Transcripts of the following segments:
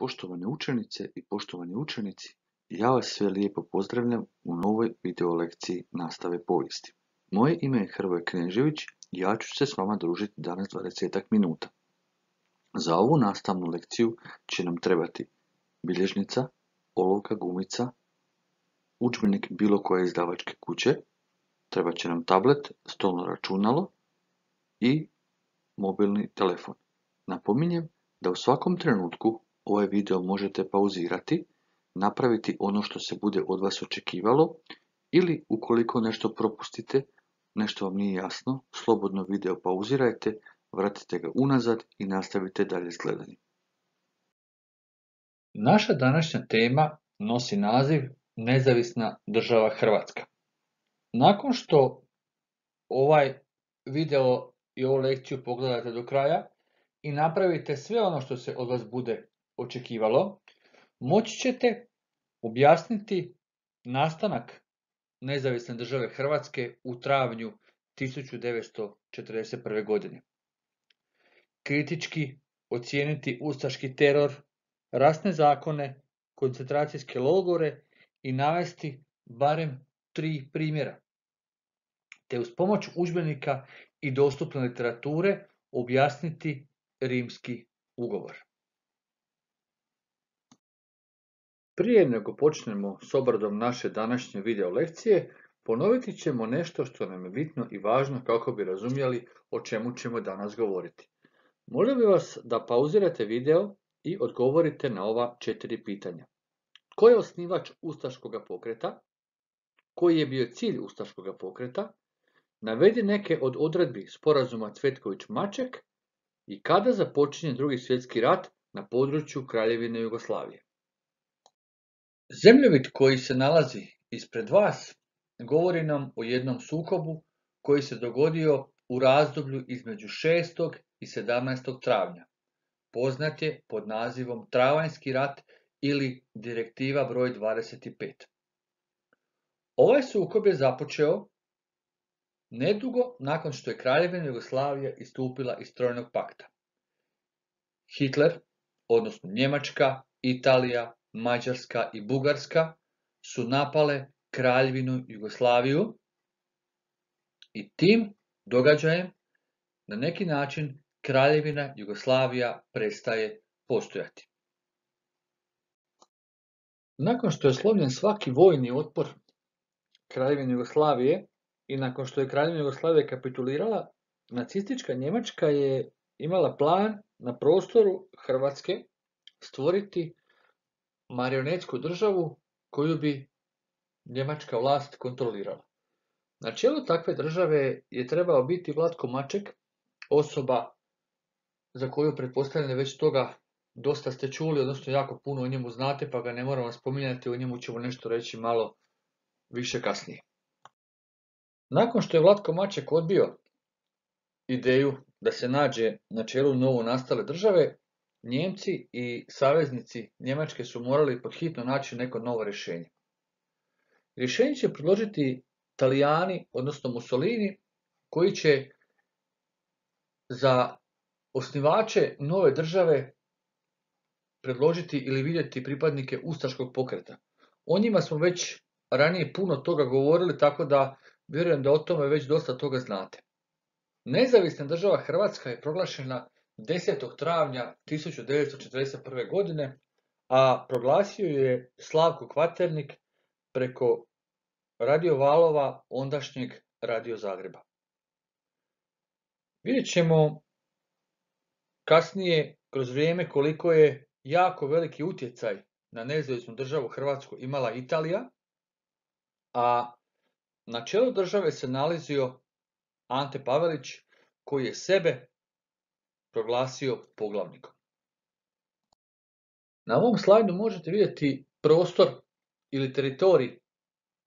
Poštovane učenice i poštovani učenici, ja vas sve lijepo pozdravljam u novoj video lekciji nastave povijesti. Moje ime je Hrvoje Knežević i ja ću se s vama družiti danas 20 minuta. Za ovu nastavnu lekciju će nam trebati bilježnica, olovka, gumica, udžbenik bilo koje izdavačke kuće, trebat će nam tablet, stolno računalo i mobilni telefon. Napominjem da u svakom trenutku ovaj video možete pauzirati, napraviti ono što se bude od vas očekivalo ili ukoliko nešto propustite, nešto vam nije jasno, slobodno video pauzirajte, vratite ga unazad i nastavite dalje s gledanjem. Naša današnja tema nosi naziv Nezavisna država Hrvatska. Nakon što ovaj video i ovu lekciju pogledate do kraja i napravite sve ono što se od vas bude očekivalo, moći ćete objasniti nastanak Nezavisne države Hrvatske u travnju 1941. godine. Kritički ocijeniti ustaški teror, rasne zakone, koncentracijske logore i navesti barem 3 primjera, te uz pomoć udžbenika i dostupne literature objasniti Rimski ugovor. Prije nego počnemo s obradom naše današnje video lekcije, ponoviti ćemo nešto što nam je bitno i važno kako bi razumjeli o čemu ćemo danas govoriti. Molio bih vas da pauzirate video i odgovorite na ova 4 pitanja. Tko je osnivač ustaškog pokreta? Koji je bio cilj ustaškog pokreta? Navedi neke od odredbi sporazuma Cvetković-Maček i kada započinje Drugi svjetski rat na području Kraljevine Jugoslavije. Zemljovid koji se nalazi ispred vas govori nam o jednom sukobu koji se dogodio u razdoblju između 6. i 17. travnja. Poznat je pod nazivom Travanjski rat ili Direktiva broj 25. Ovaj sukob je započeo nedugo nakon što je Kraljevina Jugoslavija istupila iz Trojnog pakta. Hitler, odnosno Njemačka, Italija, Mađarska i Bugarska su napale Kraljevinu Jugoslaviju i tim događajem na neki način Kraljevina Jugoslavija prestaje postojati. Nakon što je slomljen svaki vojni otpor Kraljevine Jugoslavije i nakon što je Kraljevina Jugoslavija kapitulirala, nacistička Njemačka je imala plan na prostoru Hrvatske stvoriti marionetsku državu koju bi njemačka vlast kontrolirala. Na čelu takve države je trebao biti Vlatko Maček, osoba za koju pretpostavljam već toga dosta ste čuli, odnosno jako puno o njemu znate, pa ga ne moramo spominjati, o njemu ćemo nešto reći malo više kasnije. Nakon što je Vlatko Maček odbio ideju da se nađe na čelu novo nastale države, Njemci i saveznici Njemačke su morali pod hitno naći neko novo rješenje. Rješenje će predložiti Talijani, odnosno Mussolini, koji će za osnivače nove države predložiti ili vidjeti pripadnike ustaškog pokreta. O njima smo već ranije puno toga govorili, tako da vjerujem da o tome već dosta toga znate. Nezavisna država Hrvatska je proglašena 10. travnja 1941. godine, a proglasio je Slavko Kvaternik preko radiovalova ondašnjeg Radio Zagreba. Vidjet ćemo kasnije kroz vrijeme koliko je jako veliki utjecaj na nezavisnu državu Hrvatsku imala Italija, a na čelu države se nalazio Ante Pavelić, koji je sebe proglasio poglavnikom. Na ovom slajdu možete vidjeti prostor ili teritorij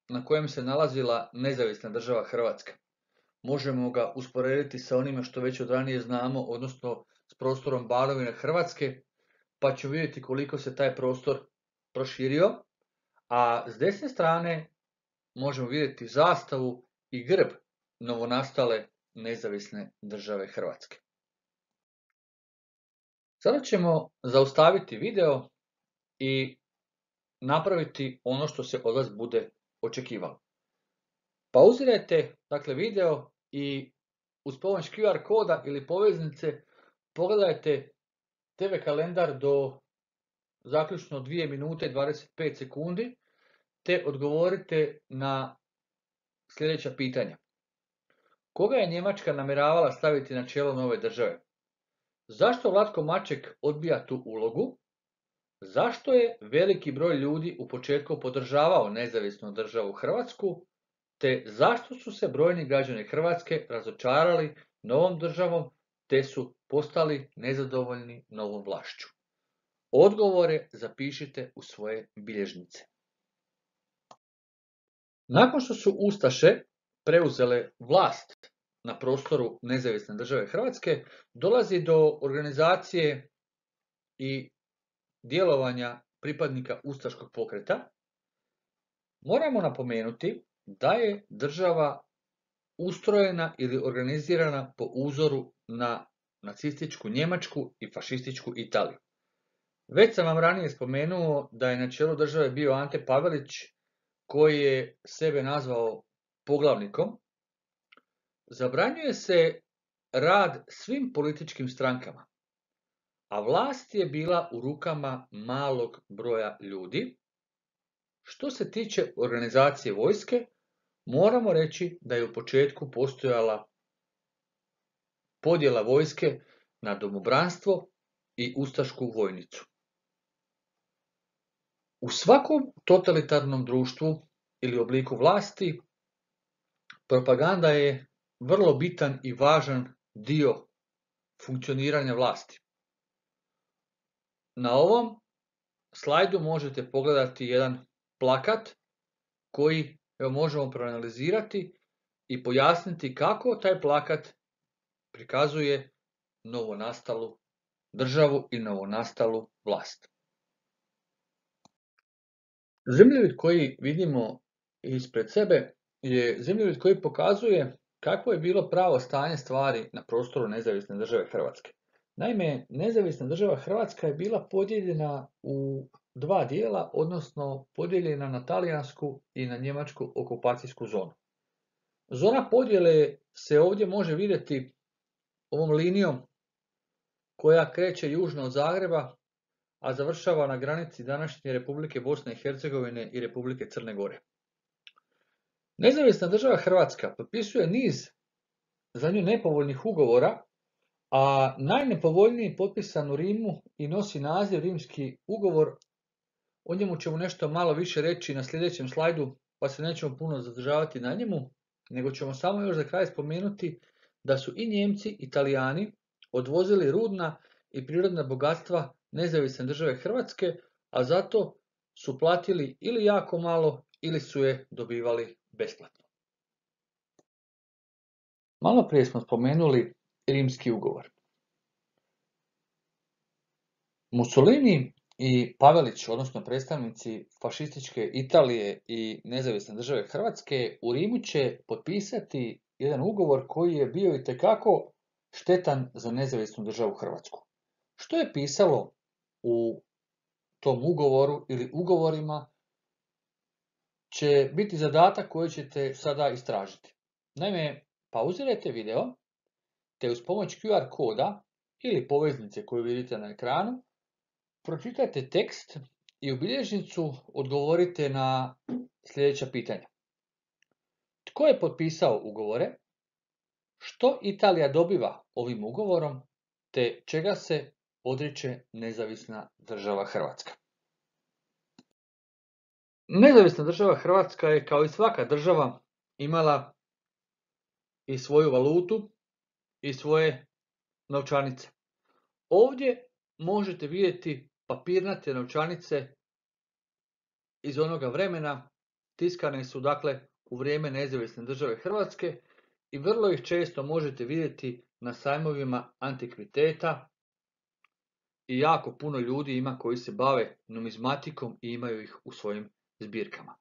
na kojem se nalazila nezavisna država Hrvatska. Možemo ga usporediti sa onime što već od ranije znamo, odnosno s prostorom Banovine Hrvatske, pa ćemo vidjeti koliko se taj prostor proširio, a s desne strane možemo vidjeti zastavu i grb novonastale nezavisne države Hrvatske. Sada ćemo zaustaviti video i napraviti ono što se od vas bude očekivalo. Pauzirajte dakle video i uz pomoć QR koda ili poveznice pogledajte TV kalendar do zaključno 2 minute i 25 sekundi te odgovorite na sljedeća pitanja. Koga je Njemačka namjeravala staviti na čelo nove države? Zašto Vlatko Maček odbija tu ulogu? Zašto je veliki broj ljudi u početku podržavao nezavisnu državu Hrvatsku? Te zašto su se brojni građani Hrvatske razočarali novom državom te su postali nezadovoljni novom vlašću? Odgovore zapišite u svoje bilježnice. Nakon što su ustaše preuzele vlast na prostoru nezavisne države Hrvatske, dolazi do organizacije i djelovanja pripadnika ustaškog pokreta. Moramo napomenuti da je država ustrojena ili organizirana po uzoru na nacističku Njemačku i fašističku Italiju. Već sam vam ranije spomenuo da je na čelu države bio Ante Pavelić, koji je sebe nazvao poglavnikom. Zabranjuje se rad svim političkim strankama, a vlast je bila u rukama malog broja ljudi. Što se tiče organizacije vojske, moramo reći da je u početku postojala podjela vojske na domobranstvo i ustašku vojnicu. U svakom totalitarnom društvu ili obliku vlasti, propaganda je vrlo bitan i važan dio funkcioniranja vlasti. Na ovom slajdu možete pogledati jedan plakat koji možemo proanalizirati i pojasniti kako taj plakat prikazuje novonastalu državu i novonastalu vlast. Zemljovid koji vidimo ispred sebe je zemljovid koji pokazuje kako je bilo pravo stanje stvari na prostoru nezavisne države Hrvatske. Naime, nezavisna država Hrvatska je bila podijeljena u dva dijela, odnosno podijeljena na talijansku i na njemačku okupacijsku zonu. Zona podjele se ovdje može vidjeti ovom linijom koja kreće južno od Zagreba, a završava na granici današnje Republike Bosne i Hercegovine i Republike Crne Gore. Nezavisna država Hrvatska potpisuje niz za nju nepovoljnih ugovora, a najnepovoljniji potpisan u Rimu i nosi naziv Rimski ugovor. O njemu ćemo nešto malo više reći na sljedećem slajdu, pa se nećemo puno zadržavati na njemu, nego ćemo samo još za kraj spomenuti da su i Njemci i Italijani odvozili rudna i prirodna bogatstva nezavisne države Hrvatske, a zato su platili ili jako malo ili su je dobivali besplatno. Malo prije smo spomenuli Rimski ugovor. Mussolini i Pavelić, odnosno predstavnici fašističke Italije i nezavisne države Hrvatske, u Rimu će potpisati jedan ugovor koji je bio itekako štetan za nezavisnu državu Hrvatsku. Što je pisalo u tom ugovoru ili ugovorima će biti zadatak koji ćete sada istražiti. Naime, pauzirajte video, te uz pomoć QR koda ili poveznice koju vidite na ekranu, pročitajte tekst i u bilježnicu odgovorite na sljedeća pitanja. Tko je potpisao ugovore? Što Italija dobiva ovim ugovorom? Te čega se odriče nezavisna država Hrvatska? Nezavisna država Hrvatska je, kao i svaka država, imala i svoju valutu i svoje novčanice. Ovdje možete vidjeti papirnate novčanice iz onoga vremena, tiskane su dakle u vrijeme nezavisne države Hrvatske i vrlo ih često možete vidjeti na sajmovima antikviteta i jako puno ljudi ima koji se bave numizmatikom i imaju ih u svojim zbirkama.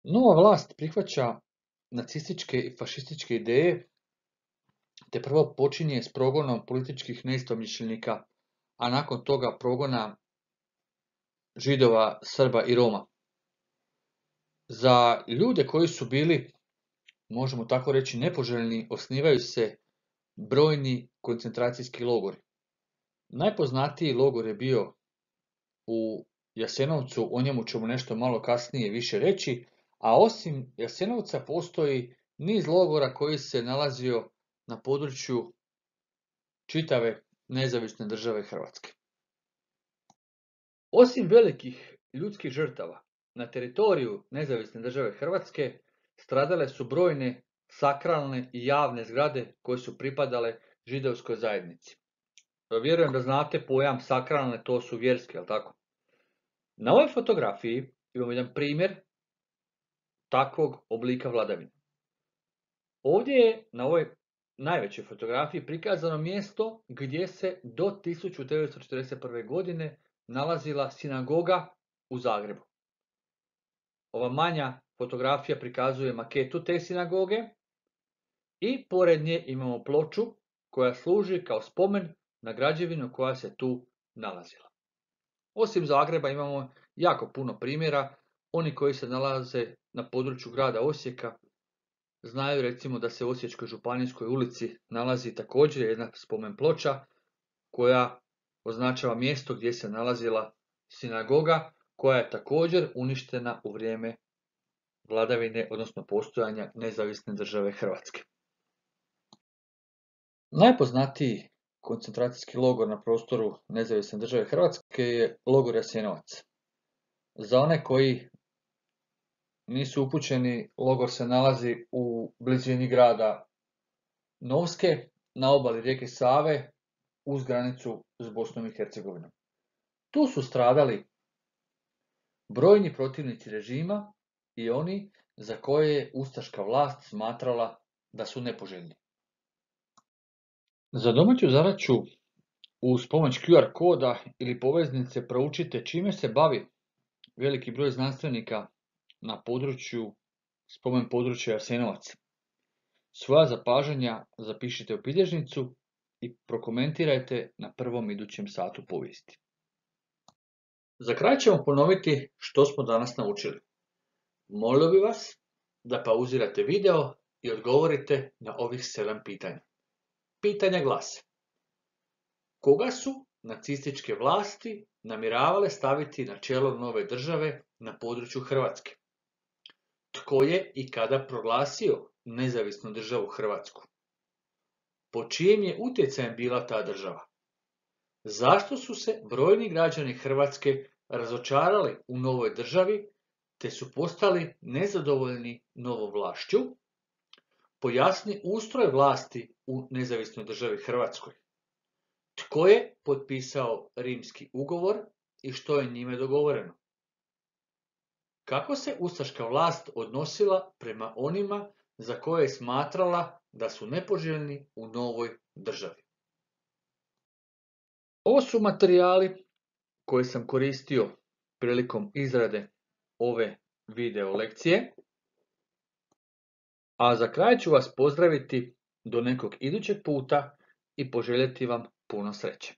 Nova vlast prihvaća nacističke i fašističke ideje, te prvo počinje s progonom političkih neistomišljenika, a nakon toga progona Židova, Srba i Roma. Za ljude koji su bili, možemo tako reći, nepoželjni, osnivaju se brojni koncentracijski logori. Najpoznatiji logor je bio u Jasenovcu, o njemu ćemo nešto malo kasnije više reći, a osim Jasenovca postoji niz logora koji se nalazio na području čitave nezavisne države Hrvatske. Osim velikih ljudskih žrtava, na teritoriju nezavisne države Hrvatske stradale su brojne sakralne i javne zgrade koje su pripadale židovskoj zajednici. Vjerujem da znate pojam sakralne, to su vjerske, jel tako? Na ovoj fotografiji imamo jedan primjer takvog oblika vladavine. Ovdje je na ovoj najvećoj fotografiji prikazano mjesto gdje se do 1941. godine nalazila sinagoga u Zagrebu. Ova manja fotografija prikazuje maketu te sinagoge i pored nje imamo ploču koja služi kao spomen na građevinu koja se tu nalazila. Osim Zagreba imamo jako puno primjera. Oni koji se nalaze na području grada Osijeka znaju recimo da se u Osječkoj županijskoj ulici nalazi također jedna spomen ploča koja označava mjesto gdje se nalazila sinagoga koja je također uništena u vrijeme vladavine, odnosno postojanja nezavisne države Hrvatske. Najpoznatiji koncentracijski logor na prostoru nezavisne države Hrvatske je logor Jasenovac. Za one koji nisu upućeni, logor se nalazi u blizini grada Novske, na obali rijeke Save, uz granicu s Bosnom i Hercegovinom. Tu su stradali brojni protivnici režima i oni za koje je ustaška vlast smatrala da su nepoželjni. Za domaću zadaću uz pomoć QR koda ili poveznice proučite čime se bavi veliki broj znanstvenika na području, spomen područja Jasenovac. Svoja zapažanja zapišite u bilježnicu i prokomentirajte na prvom idućem satu povijesti. Za kraj ćemo ponoviti što smo danas naučili. Molio bih vas da pauzirate video i odgovorite na ovih 7 pitanja. Pitanja glase: koga su nacističke vlasti namjeravale staviti na čelo nove države na području Hrvatske? Tko je i kada proglasio nezavisnu državu Hrvatsku? Po čijem je utjecajem bila ta država? Zašto su se brojni građani Hrvatske razočarali u novoj državi te su postali nezadovoljni novom vlašću? Pojasni ustroj vlasti u nezavisnoj državi Hrvatskoj. Tko je potpisao Rimski ugovor i što je njime dogovoreno? Kako se ustaška vlast odnosila prema onima za koje je smatrala da su nepoželjni u novoj državi? Ovo su materijali koje sam koristio prilikom izrade ove video lekcije. A za kraj ću vas pozdraviti do nekog idućeg puta i poželjeti vam puno sreće.